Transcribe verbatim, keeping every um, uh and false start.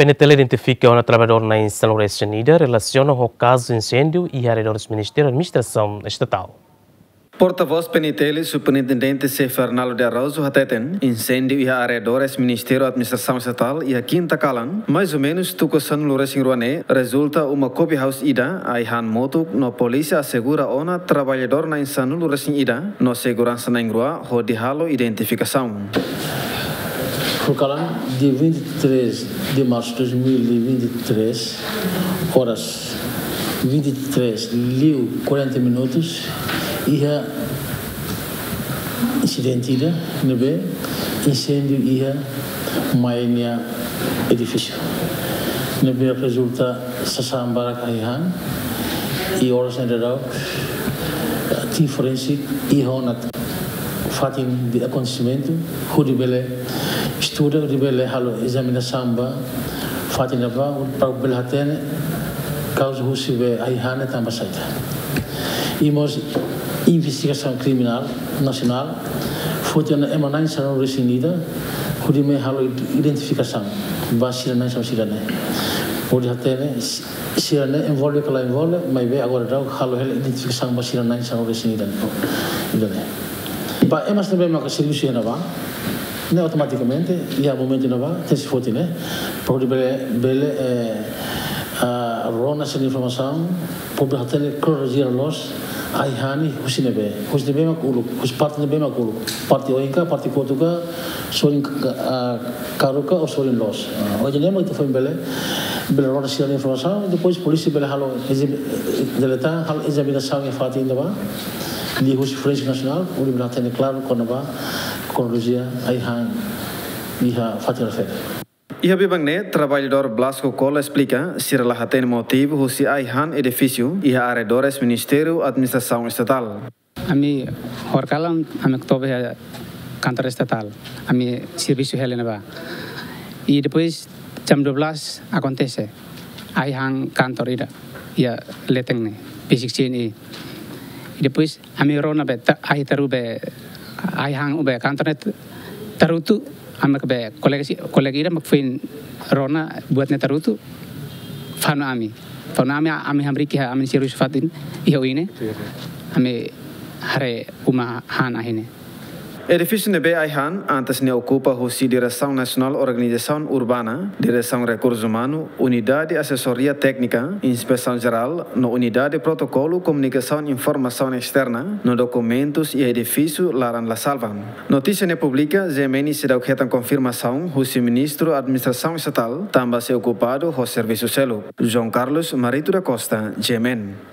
PNTL identifika ona traballadór na'in sanulu-resin-ida relasiona ho kazu inséndiu iha arredores Ministériu Administrasaun Estatál. Portavós PNTL, Superintendente Xavier Arnaldo de Araújo hateten, inséndiu iha arredores Ministériu Administrasaun Estatál iha kinta kalan, mais ou menus tuku sanulu-resin-rua ne'e, rezulta uma kopi haus ida, ai-han motuk, no polísia asegura ona traballadór na'in sanulu-resin-ida, no seguransa na'in-rua hodi halo identifikasaun. Horikalan, dia vinte e três de março de dois mil e vinte e três, horas vinte e três liu quarenta minutos, iha insidente ida ne'ebé inséndiu iha mai nia edifísiu, ne'ebé rezulta sasán barak ai-han, i oras ne'e daudaun tim forensik iha ona fatin de akontesimentu, hodi bele estuda, hodi bele halo ezaminasaun ba fatin ne'ebá, para bele hatene kauza husi be ai-han ne'e tanba saida. I mós investigasaun kriminál nasionál foti ona ema na'in sanulu-resin-ida, hodi mai halo identifikasaun ba sira na'in sanulu-resin-ida ne'e, hodi hatene sira ne'e envolve ka la envolve, maibé agora daudaun halo hela identifikasaun ba sira na'in sanulu-resin-ida ne'e. Ba ema sira ne'ebé maka servisu iha ne'ebá, ne'e automatikamente iha momentu ne'ebá tenke foti ne'e, para hodi bele, bele, eh, ah, rona sira-nia informasaun, para bele hatene kronolojia loos ai-han ne'e husi ne'ebé, husi ne'ebé mak uluk, husi parte ne'ebé mak uluk, parte oin ka, parte kotuk ka, sorin ka, ah, karuk ka ou sorin loos. Ah, ohin ne'e mak ita foin bele, bele rona sira-nia informasaun, depois polísia bele halo, ezami-, deleta, halo ezaminasaun iha fatin ne'ebá, liuhusi Forensik Nasionál, hodi bele hatene klaru kona-ba kronolojia ai-han iha fatin refere. Iha biban ne'e, traballadór Blasco Cola esplika, sira la hatene motivu husi ai-han edifísiu iha arredores Ministériu Administrasaun Estatál. Ami horikalan, ami toba iha kantor estatál, ami servisu hela iha ne'ebá. I depois jam dua belas akontese ai-han kantor ida iha leten ne'e, besik C N I. I depois ami rona be ta-, ai taru be, ai-han be kantor ne'e tarutu, ami ke be kolega si-, kolega ida mak foin rona buat ne'e tarutu, fanu ami. Fanu ami, ami hamriik iha ami servisu fatin iha oin ne'e. Ami haree uma han ahi ne'e. Edifísiu ne'ebé ai-han antes ne'e okupa husi Diresaun Nasionál Organizasaun Urbana, Diresaun Rekursu Umanu, Unidade Asesoria Téknika, Inspesaun Jerál, no Unidade Protokolu Komunikasaun Informasaun Esterna, no dokumentus iha edifísiu laran la salva. Notísia ne'e publika, G M N seidauk hetan konfirmasaun husi Ministru Administrasaun Estatál, tanba sei okupadu ho servisu seluk. João Carlos Marito da Costa, G M N.